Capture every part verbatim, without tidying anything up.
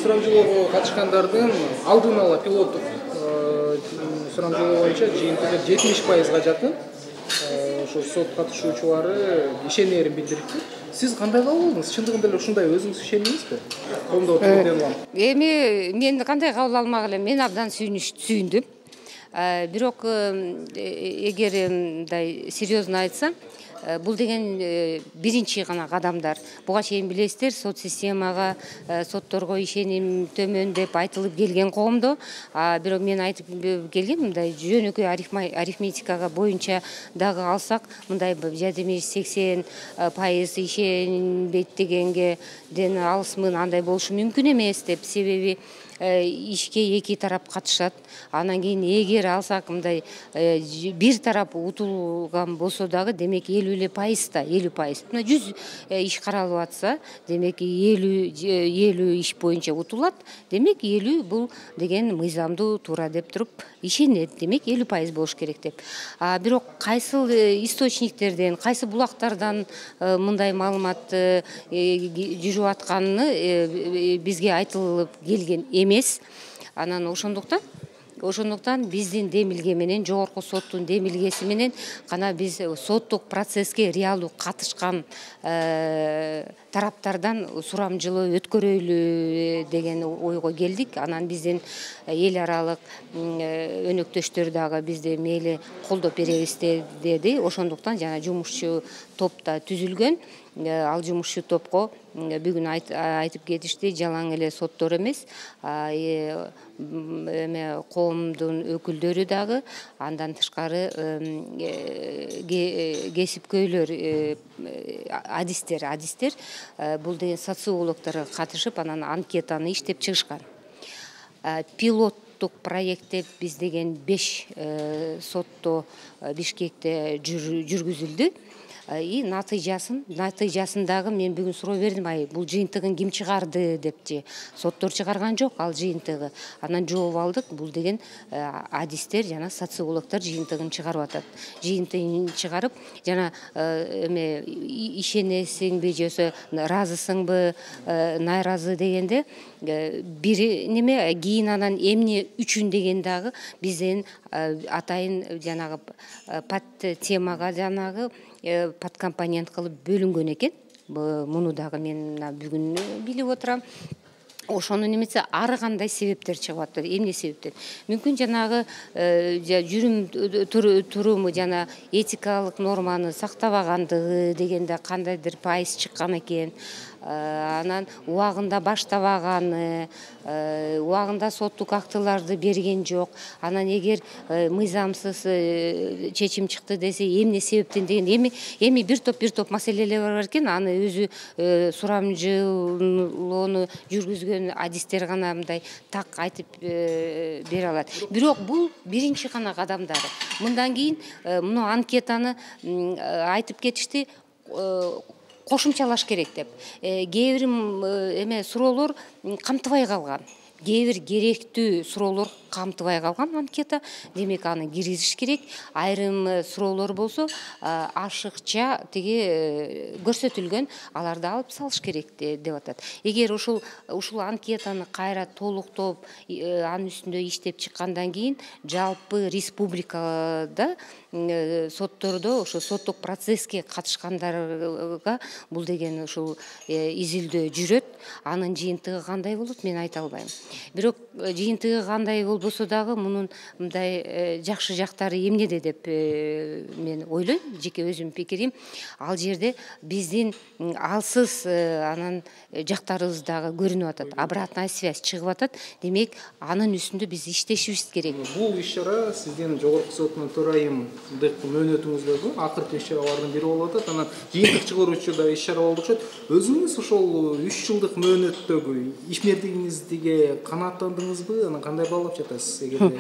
Сурамжылоого катышкандардын алдын ала пилоттук сурамжылоо боюнча жыйынтыгы жетимиш пайызга жакын ошо сот катышуучулары ишенерин билдирипти. Сиз кандай кабыл алдыңыз? Чындыгында эле ушундай өзүңүз ишендиңизби? Коомдо отурган. Эми мен кандай кабыл алмак элем? Мен абдан сүйүндүм. Бирок эгер мындай серьезно айтсам, бул деген биринчи гана кадамдар. Буга чейин билесиздер, сот системага, сотторго ишеним төмөн деп айтылып келген коомдо, бирок мен айтып келгем, мындай жөнөкөй арифметикага боюнча дагы алсак, мындай жетимиш сексен пайыз ишенбейт дегенге ден алысмын, андай болушу мүмкүн эмес деп. Себеби ишке эки тарап катышат. Анан кийин эгер алсак мындай бир тарап утулган болсо дагы, демек элүү эле пайыз да, элүү пайыз. Мына жүз иш каралып атса, демек элүү иш боюнча утулат. Демек элүү бул деген мыйзамдуу туура деп туруп ишенет. Демек элүү пайыз болуш керек деп. Бирок кайсыл источниктерден, кайсы булактардан мындай маалымат жүрүп атканы бизге айтылып келген эмес. Анан ошондуктан Ошондуктан биздин демилге менен, жогорку соттун демилгеси менен гана биз соттук процесске реалдуу катышкан тараптардан сурамжылоо өткөрөйлү деген ойго келдик. Анан биздин эл аралык өнөктөштөр дагы бизди мейли колдоп беребиз деди. Ошондуктан жана жумушчу топ да түзүлгөн. Ал жумушчу топко бүгүн айтып кетишти, жалаң эле соттор эмес, эме коомдун өкүлдөрү дагы, андан тышкары кесипкөйлөр, адистер, адистер бул деген социологдор катышып, анан анкетаны иштеп чыгышкан. Пилоттук проектте биз деген беш сотто Бишкекте жүргүзүлдү. И натыйжасын, натыйжасын дагы мен бүгүн суроо бердим, ай, бул жыйынтыгын ким чыгарды депчи. Соттор чыгарган жок ал жыйынтыгы. Анан жооп алдык, бул деген адистер жана социологдор жыйынтыгын чыгарып атат. Жыйынтыгын чыгарып, жана эме ишенесиңби, жөсө ыраазысыңбы, найразы дегенде бири неме, кийин анан эмне үчүн деген дагы бизден атайын жанагы пат темага жанагы подкомпонент кылып бөлүнгөн экен. Муну дагы мен бүгүн билип отурам. Ошону немесе ары кандай себептер чыгып атат. Эмне себептер? Мүмкүн жанагы жүрүм туруму жана этикалык норманы сактабагандыгы дегенде кандайдыр пайыз чыккан экен. Анан убагында баштабаганы, убагында соттук актыларды берген жок. Анан эгер мыйзамсыз чечим чыкты десе, эмне себептен деген эми эми бир топ бир топ маселелер бар экен. Аны өзү сурамжылоону жүргүзгөн адистер гана мындай так айтып бере алат. Бирок бул биринчи гана кадамдары. Мындан кийин муну анкетаны айтып кетишти, кошумчалаш керек деп. Кээ бир эме суроолор камтыбай калган. Кээ бир керектүү суроолор камтыбай калган анкета, демек аны киргизиш керек. Айрым суроолор болсо ашыкча тиги көрсөтүлгөн, аларды алып салыш керек деп атат. Эгер ушул ушул анкетаны кайра толуктоп, анын үстүндө иштеп чыккандан кийин жалпы республикада соттордо ошо соттук процесске катышкандарга бул деген ушул изилдөө жүрөт. Анын жыйынтыгы кандай болот, мен айта албайм. Бирок жыйынтыгы кандай болбосо дагы мунун мындай жакшы жактары эмнеде деп мен ойлойм, жеке өзүмдүн пикирим. Ал жерде биздин алсыз анан жактарыбыз дагы көрүнүп атат, обратная связь чыгып атат. Демек, анын үстүндө биз иштешибиз керек. Бул иш-чара сиздин жогорку соттун төрайымдык мөөнөтүңүздөгү акыркы иш-чаралардын бири болуп атат. Анан жыйынтык чыгаруучу да иш-чара болуп окшойт. Өзүңүз ошол үч жылдык мөөнөттөгү ишмердигиңизге канааттандыңызбы? Анан кандай баалап жатасыз эгерде?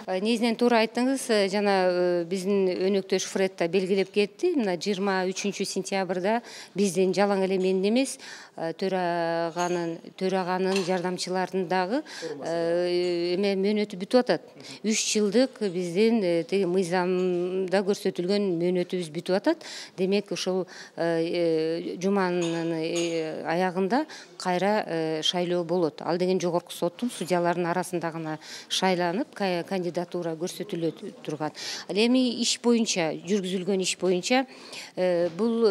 Негизинен туура айттыңыз, жана биздин өнөктөш Фред да белгилеп кетти. Мына жыйырма үчүнчү сентябрда биздин жалаң эле менин эмес, төраганын төраганын жардамчыларынын дагы эме мөөнөтү бүтүп атат. үч жылдык биздин тиги мыйзамда көрсөтүлгөн мөөнөтүбүз бүтүп атат. Демек ушул жуманын аягында кайра шайлоо болот. Ал деген жогорку соттун судьяларынын арасында гана шайланып кандидатура көрсөтүлө турган. Ал эми иш боюнча, жүргүзүлгөн иш боюнча бул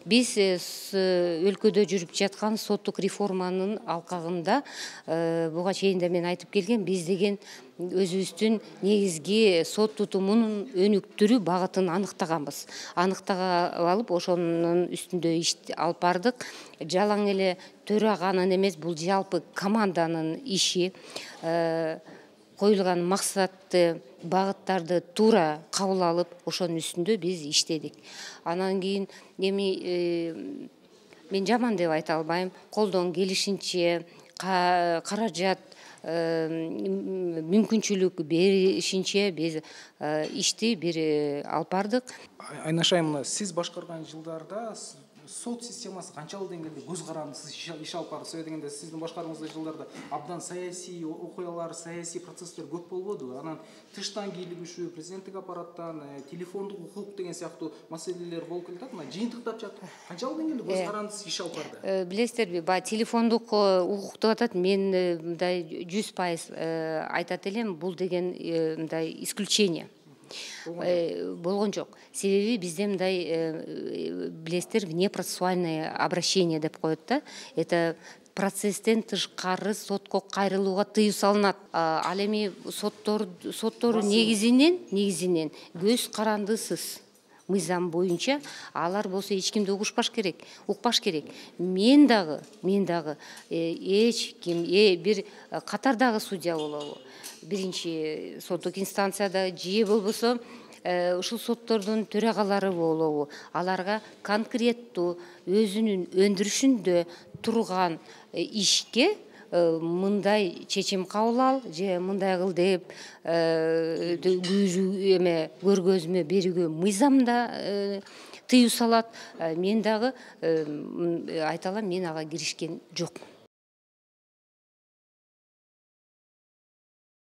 биз өлкөдө жүрүп жаткан соттук реформанын алкагында буга чейин да мен айтып келген, биз деген өзүбүздүн негизги сот тутумунун өнүктүрүү багытын аныктаганбыз. Аныктага алып, ошонун үстүндө иш алып бардык. Жалаң эле төраганын эмес, бул жалпы команданын иши. Коюлган максатты, багыттарды туура кабыл алып, ошонун үстүндө биз иштедик. Анан кийин эми мен жаман деп айта албайм. Колдон келишинче каражат мүмкүнчүлүк беришинче биз ишти бир алып бардык. Айнаш айым, сиз башкарган жылдарда сот системасы канчалык деңгээлде көз карандысыз иш алып барды? Себеби дегенде сиздин башкарууңуздагы жылдарда абдан саясий окуялар, саясий процесстер көп болбодубу? Анан тыштан кийлигишүү, президенттик аппараттан телефондук укук деген сыяктуу маселелер болуп келатат. Мына жыйынтыктап жатып, канчалык деңгээлде көз карандысыз иш алып барды? Билесиздерби, баягы телефондук укук деп атат. Мен мындай жүз пайыз айтат элем, бул деген мындай исключение. Болгон жок. Себеби бизде мындай билесиздер, внепроцессуальное обращение деп коет да. Это процесстен тышкары сотко кайрылууга тыюу салынат. Ал эми соттор соттору негизинен негизинен көз карандысыз мыйзам боюнча алар болсо эч кимди угушпаш керек, укпаш керек. Мен дагы, мен дагы эч ким, бир катардагы судья болобу, биринчи соттук инстанцияда же болбосо ушул соттордун төрагалары болобу, аларга конкреттүү өзүнүн өндүрүшүндө турган ишке мындай чечим кабыл ал же мындай кыл деп күйрүү эме көргөзмө берүүгө мыйзамда тыюу салат. Мен дагы айта алам, мен ага киришкен жокмун.